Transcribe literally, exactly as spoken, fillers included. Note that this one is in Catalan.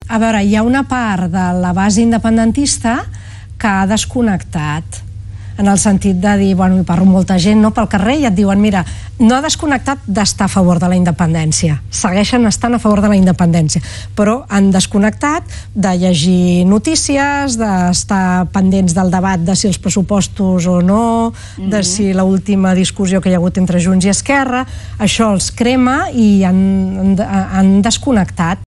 A veure, hi ha una part de la base independentista que ha desconnectat, en el sentit de dir, bueno, hi parlo amb molta gent pel carrer i et diuen, mira, no ha desconnectat d'estar a favor de la independència, segueixen estant a favor de la independència, però han desconnectat de llegir notícies, d'estar pendents del debat de si els pressupostos o no, de si l'última discussió que hi ha hagut entre Junts i Esquerra, això els crema i han desconnectat.